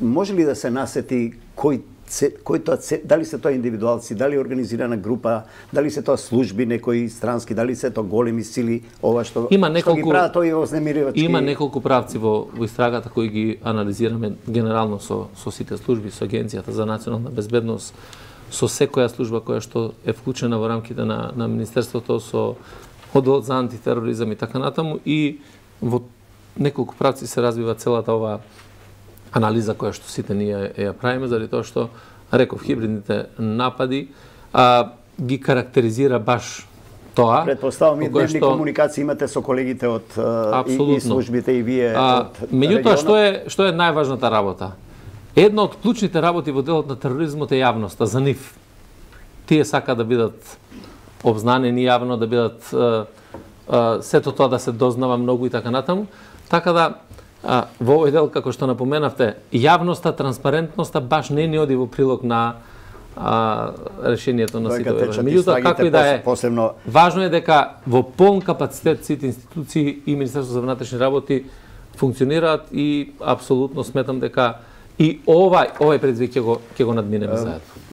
може ли да се насети дали се тоа индивидуалци, дали организирана група, дали се тоа служби некои странски, дали се тоа големи сили, ова што ги прават овие вознемиривачки? Има неколку правци во истрагата кои ги анализираме генерално со сите служби, со Агенцијата за национална безбедност, со секоја служба која што е вклучена во рамките на Министерството, со одделот за антитероризам и така натаму, и во неколку правци се развива целата оваа анализа која што сите ние ја правиме, заради тоа што, реков, хибридните напади ги карактеризира баш тоа. Предпоставам и дневни комуникации имате со колегите од и службите и вие од меѓутоа, што е најважната работа? Една од клучните работи во делот на тероризмот е јавноста за нив. Тие сака да бидат обзнанени јавно, да бидат сето тоа да се дознава многу и така натаму. Така да во овој дел, како што напоменавте, јавноста, транспарентноста баш не ни оди во прилог на решението на сите овие. Меѓутоа, како и да е, важно е дека во полн капацитет сите институции и Министерството за внатрешни работи функционираат и апсолутно сметам дека и овој предизвик ќе го надминеме заедно.